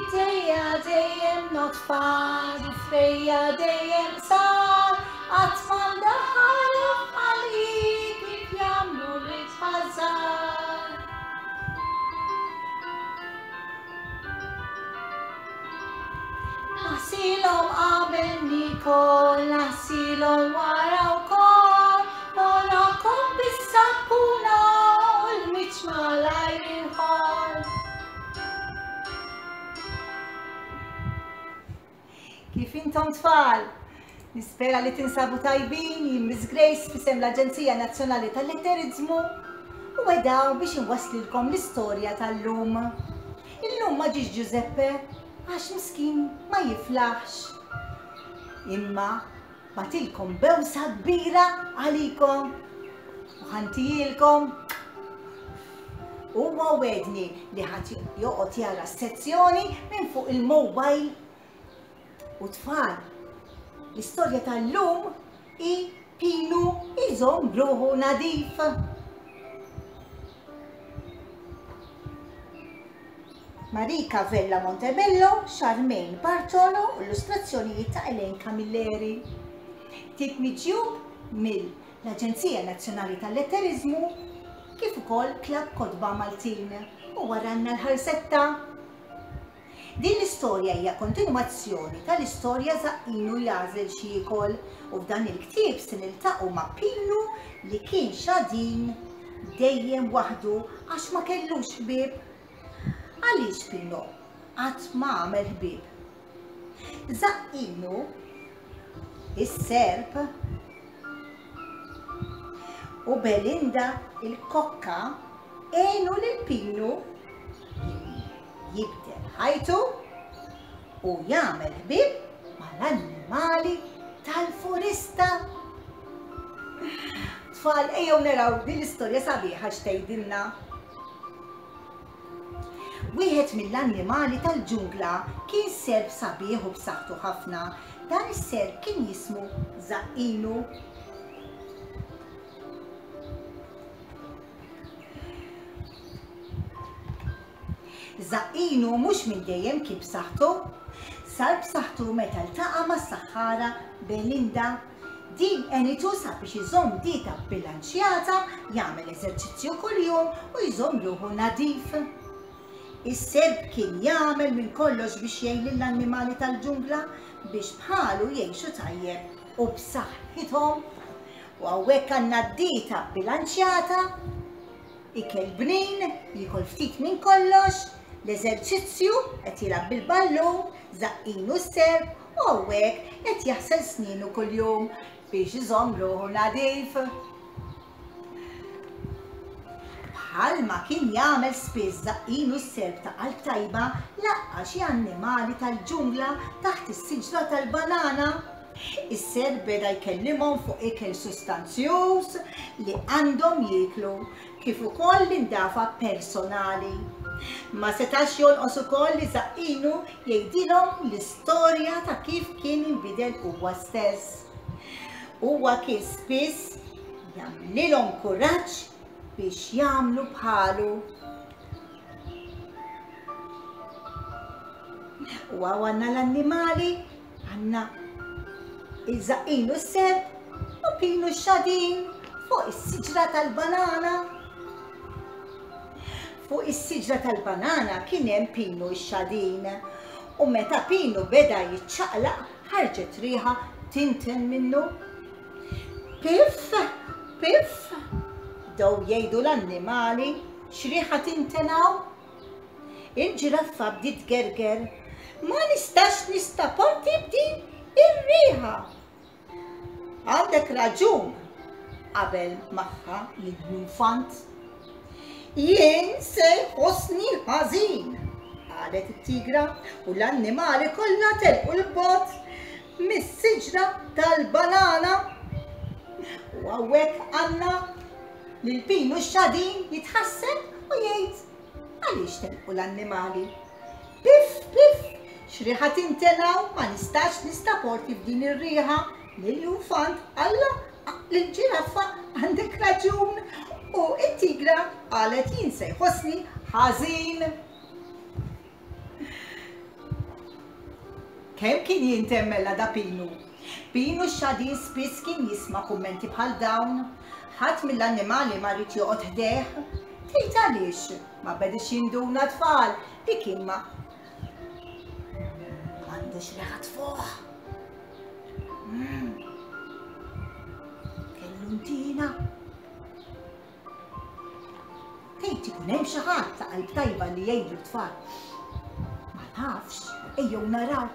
Idejja dejjem nodfa, difrejja dejjem sar, qatt ma ndaħħalhom f'ħalqi kif jagħmlu l-itfal żgħar. Naħsilhom qabel niekol, naħsilhom wara wkoll, nogħrokhom bis-sappuna u l-miċ malajr inħoll. Kif intom tfal? Nispera li tinsabu tajbin, jien Miss Grace fisem l-Aġenzija Nazzjonali tal-Letterizmu u wedaw biex inwasslilkom l-istorja tal-lum. Illum ma ġiex Giuseppe għax miskin ma jiflaħx. Imma batilkom bewsa kbira għalikom u ħantijielkom. Huwa wedni li ħadd joqgħod jara s-sezzjoni minn fuq il-mobile U tfal, l-istorja tal-lum hi Pinu jżomm ruħu nadif. Marika Vella Montebello, Charmaine Bartolo u illustrazzjonijiet ta' Elaine Camilleri. Tip miġjub mill l-Aġenzija Nazzjonali tal-Letteriżmu kif ukoll Klabb Kotba Maltin u waranna l-ħarsetta. Din l-istorja hija kontinwazzjoni tal-istorja Żaqqinu jagħżel x'jiekol u f'dan il-ktieb se niltaqgħu ma' Pinu li kien xadin dejjem waħdu għax ma kellux ħbieb. Għaliex Pino qatt ma għamel ħbieb? Żaqqinu, is-serp, u Belinda il-kokka għenu lil Pinu jibdel ħajtu u jagħmel ħbieb mal-annimali tal-foresta. Tfal, ejjew naraw din l-istorja sabiħa x'tgħidilna. Wieħed mill-annimali tal-ġungla kien serp sabiħ u b'saħħtu ħafna. Dan is-serp kien jismu Żaqqinu. Żaqqinu mhux minn dejjem kien b'saħħtu. Sar b'saħħtu meta ltaqa' mas-saħħara Belinda. Din għenitu sabiex iżomm dieta bbilanċjata, jagħmel eżerċizzju kuljum u jżomm ruħu nadif. Is-serp kien jagħmel minn kollox biex jgħin lill-annimali tal-ġungla biex bħalu jgħixu tajjeb u b'saħħithom. U hawnhekk għandna dieta bbilanċjata Ikel bnin, jiekol ftit minn kollox, l-eżerċizzju, qed jilgħab bil-ballun, żaqqinu s-serp u hawnhekk qed jaħsel snienu kuljum biex iżomm ruħu nadif. Bħalma kien jagħmel spiss żaqqinu s-serp ta' qalb tajba laqqa' xi annimali tal-ġungla taħt is-siġra tal-banana. Is-serp beda jkellimhom fuq ikel sustanzjuż li għandhom jieklu, kif ukoll l-indafa personali. Ma setax jonqos ukoll li Żaqqinu jgħidilhom l-istorja ta' kif kien inbidel huwa stess. Huwa kien spiss jagħmlilhom kuraġġ biex jagħmlu bħalu. U hawn għandna l-annimali Għandna iż-żaqqin u s-serp u pinu x-xadin fuq is-siġra tal-banana. Fuq is-siġra tal-banana kien hemm pinu x-xadin u meta pinu beda jiċċaqlaq ħarġet riħa tinten minnu. Pif, pif, bdew jgħidu l-annimali x'riħa tinten hawn. Il-ġiraffa bdiet tgerger, Ma nistax nistaporti b'din ir-riħa! Għandek raġun, qabel magħha l-iljunfant. Jien se jħossni ħażin, qalet it-tigra u l-annimali kollha telqu 'l bogħod mis-siġra tal-banana. U hawnhekk għandna lil Pinu x-xadin jitħasseb u jgħid Għaliex telqu l-annimali? Piff, piff, x'riħa tinten hawn, ma nistax nistaporti f'din ir-riħa. L-iljunfant qallha lill-ġiraffa għandek raġun u t-tigra qalet jien se jħossni ħażin. Kemm kien jinten mela da Pinu! Pinu x-xadin spiss kien jisma' kummenti bħal dawn. Ħadd mill-annimali ma ried joqgħod ħdejh. Tgħid għaliex? Ma bediex jinduna tfal li kien ma għandux riħa tfuħ. Mm. Kellu ntina. Tgħid ikun hemm xi ħadd ta' qalb tajba li jgħidlu tfal. Ma nafx, ejjew naraw.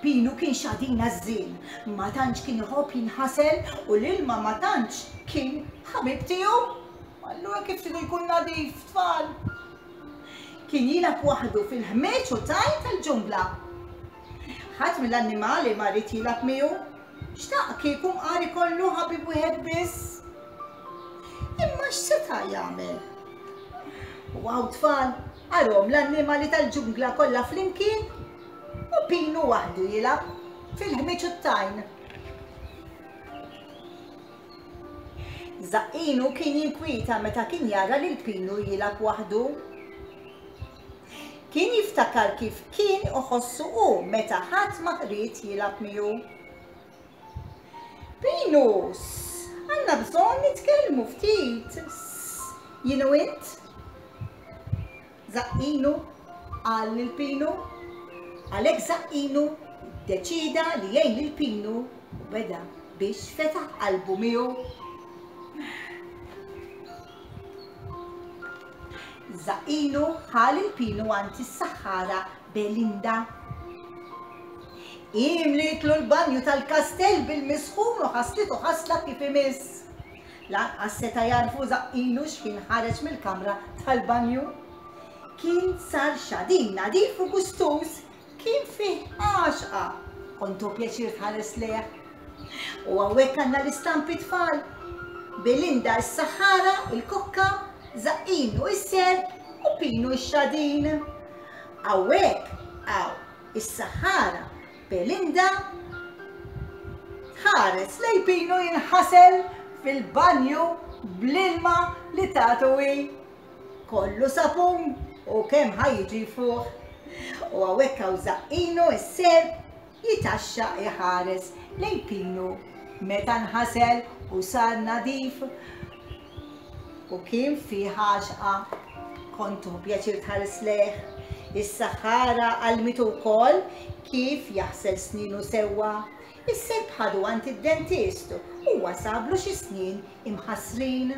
Pinu kien xadina żżien, ma tantx kien iħobb jinħasel u l-ilma ma tantx kien ħabib tiegħu. Allura kif tridu jkun nadif, tfal? Kien jilgħab waħdu fil-ħmieġ u tajn tal-ġungla. Ħadd mill-annimali ma ried jilgħab miegħu. Xtaq kieku mqar ikollu ħabib wieħed biss. Imma x'seta' jagħmel? U hawn tfal, arhom l-annimali tal-ġungla kollha flimkien u Pinu waħdu jilgħab fil-ħmieġ u t-tajn. Żaqqinu kien jinkwieta meta kien jara lil Pinu jilgħab waħdu. Kien jiftakar kif kien iħossu hu meta ħadd ma ried jilgħab miegħu. Pinu, għandna bżonn nitkellmu ftit, jien u int. Żaqqinu, qal lil Pinu. Għalhekk Żaqqinu ddeċieda li jgħin lil Pinu u beda biex fetaħ qalbu miegħu. Żaqqinu ħa lil Pinu għand is-saħħara Belinda. Hi mlietlu l-banju tal-kastell bil-misħun u ħaslitu ħasla kif imiss. Lanqas seta' jagħrfu Żaqqinu x'ħin ħareġ mill-kamra tal-banju. Kien sar xadin nadif u gustuż, kien fih għaxqa. Kontu pjaċir tħares lejh. U hawnhekk għandna l-istampi tfal. Belinda s-saħħara, il-kokka, Żaqqinu s-serp u Pinu x-xadin. Hawnhekk hawn is-saħħara Belinda tħares lejn Pinu jinħasel fil-banju bl-ilma li tatu hi. Kollu sapun u kemm ħa jiġi jfuħ. U hawnhekk hawn Żaqqinu s-serp jitaxxaq iħares lejn Pinu meta nħasel u sar nadif u kien fih għaxqa. Kont tieħu pjaċir tħares lejh. Is-saħħara għallmitu wkoll kif jaħsel snienu sewwa. Is-serp ħadu għand id-dentist u huwa sablu xi snien imħassrin.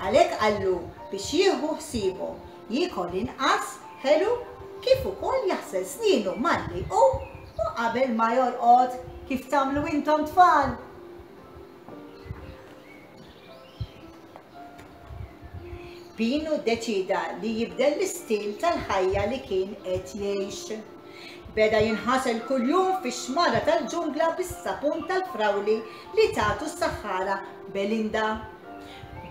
Għalhekk qallu biex jieħu ħsiebhom, jiekol inqas ħelu kif ukoll jaħsel snienu malli jqum u qabel ma jorqod kif tagħmlu intom tfal. Pinu ddeċieda li jibdel l-istil tal-ħajja li kien qed jgħix. Beda jinħasel kuljum fix-xmara tal-ġungla bis-sapun tal-frawli li tatu s-saħħara Belinda.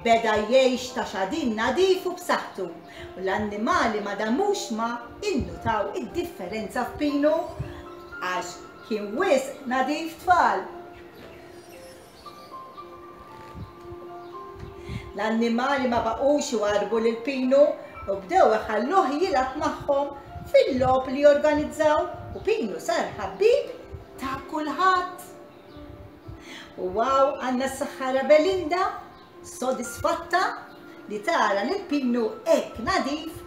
Beda jgħix ta' xadin nadif u b'saħħtu u l-annimali ma damux ma innutaw id-differenza f'Pinu għax kien wisq nadif tfal. L-annimali ma baqgħux iwarrbu lil Pinu u bdew iħalluh jilgħab magħhom fil-logħob li jorganizzaw u Pinu sar ħabib ta' kulħadd. U hawn għandna s-saħħara Belinda sodisfatta li tara lil Pinu hekk nadif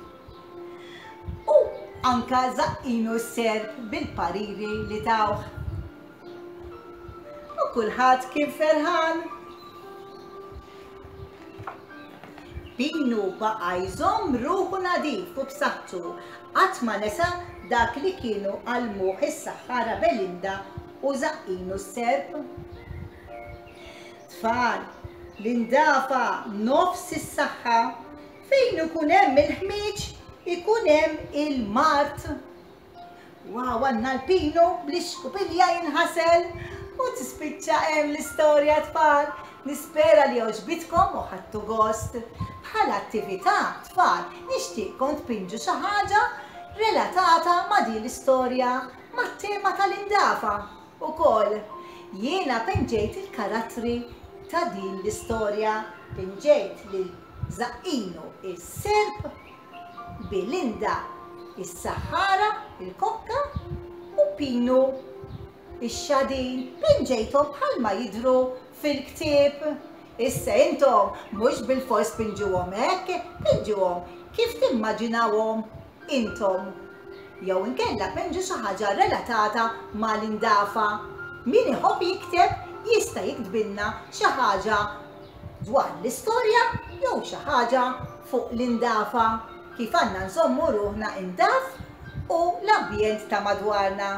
u anka Żaqqinu s-serp bil-pariri li tawh. U kulħadd kien ferħan. Pinu baqa' jżomm ruħu nadif u b'saħħtu, qatt ma nesa dak li kienu għallmuh is-saħħara Belinda u Żaqqinu s-serp. Tfal, l-indafa nofs is-saħħa, fejn ikun hemm il-ħmieġ ikun hemm il-mard. Wow, għandna l-pinu bl-ixkupilja jinħasel u tispiċċa hemm l-istorja tfal. Nispera li għoġbitkom u ħadtu gost. Bħala attività, tfal, nixtieqkom tpinġu xi ħaġa relatata ma' din l-istorja, mat-tema tal-indafa ukoll. Jiena pinġejt il-karattri ta' din l-istorja, pinġejt lil Żaqqinu is-serp, Belinda. Is-saħħara, il-kokka u Pinu. Ix-xadin pinġejthom bħalma jidhru fil-ktieb. Issa intom mhux bilfors pinġuhom hekk, pinġuhom kif timmaġinawhom intom. Jew inkella pinġu xi ħaġa relatata mal-indafa. Min iħobb jikteb jista' jiktbilna xi ħaġa dwar l-istorja jew xi ħaġa fuq l-indafa, kif għandna nżommu ruħna indaf u l-ambjent ta' madwarna.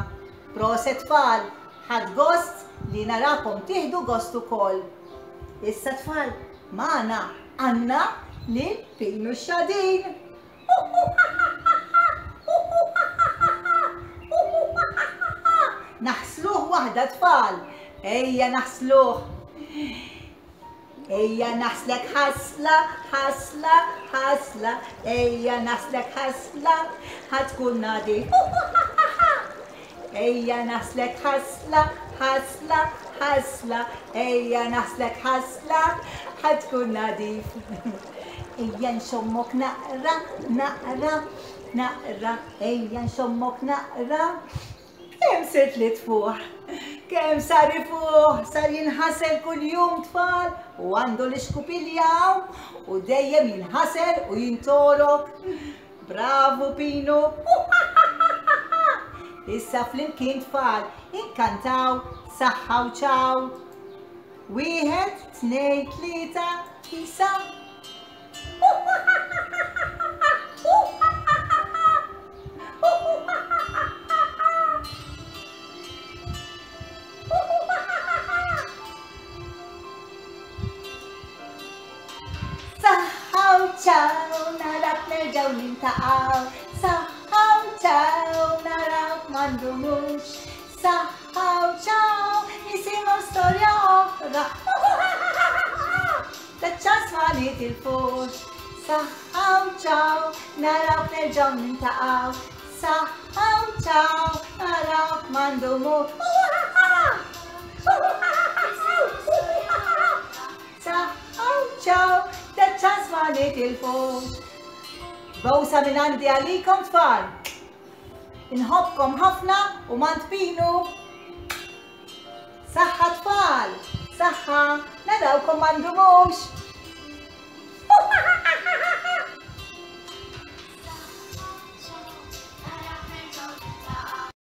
Proset tfal, ħadt gost li narakom tieħdu gost ukoll. Issa tfal, magħna għandna lil Pinu x-Xadin. Naħsluh waħda tfal. Ejja naħsluh. Ejja naħslek ħasla, ħasla, ħasla. Ejja naħslek ħasla, ħatkun nadi. Ejja naħslek ħasla, ħasla, ħasla. Ejja naħslek ħasla, ħatkun nadif. Ejja nxommok naqra, naqra, naqra, ejja nxommok naqra. Kemm sirt li tfuħ, kemm sar ifuħ, sar jinħasel kuljum tfal u għandu l-ixkupilja u dejjem jinħasel u jintorok. Bravu Pinu! Issa flimkien tfal inkantaw saħħa u ċaw. Wieħed, tnejn, tlieta, isa. Saħħa u ċaw, narak nerġgħu nintaqgħu. Saħħa u ċaw, narak ma ndumux. Saħħa u ċaw, nisimgħu storja oħra. Taċ-ċans ma nitilfux. Saħħa u ċaw, narawk nerġgħu nintaqgħu. Saħħa u ċaw, narawk ma ndumux. Saħħa u ċaw, taċ-ċans ma nitilfux. Bowsa minn għandi għalikom tfal. Inħobbkom ħafna u m'għand Pinu. Saħħa tfal, saħħa, narawkom ma ndumux.